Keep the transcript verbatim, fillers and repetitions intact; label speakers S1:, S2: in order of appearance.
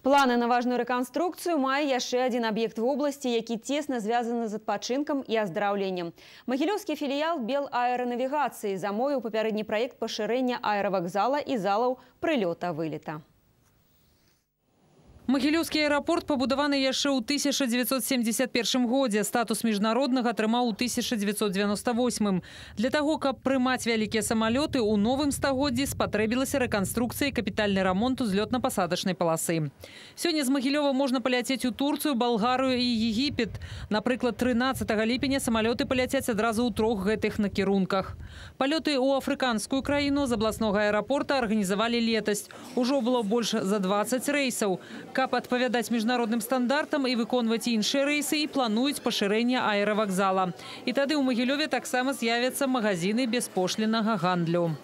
S1: Планы на важную рэканструкцыю мае яшчэ адзін аб'ект вобласці, які цесна звязаны з адпачынкам і аздараўленнем. Магілёўскі філіял Белаэранавігацыі замовіў папярэдні праект пашырэння аэравакзала і залаў прылёта-вылета.
S2: Магілёўскі аэрапорт пабудаваны яшчэ ў тысяча дзевяцьсот семьдесят первым годзе. Статус міжнароднага атрымаў у тысяча дзевяцьсот девяносто восьмым. Для таго, каб прымаць вялікія самалёты, у новым стагоддзі спатрэбілася рэканструкцыя і капітальны рамонт узлётна-пасадачнай паласы. Сёння з Магілёва можна паляцець у Турцыю, Балгарыю і Егіпет. Напрыклад, трынаццатага ліпеня самалёты паляцяць адразу ў трох гэтых накірунках. Палёты ў афрыканскую краіну з абласнога аэрапорта арганізавалі летась. Ужо было больш за дваццаць рэйсаў. Каб адпавядаць міжнародным стандартам і выконваць іншыя рэйсы, і плануюць пашырэнне аэравакзала. І тады ў Магілёве таксама з'явяцца магазины беспошліннага гандлю.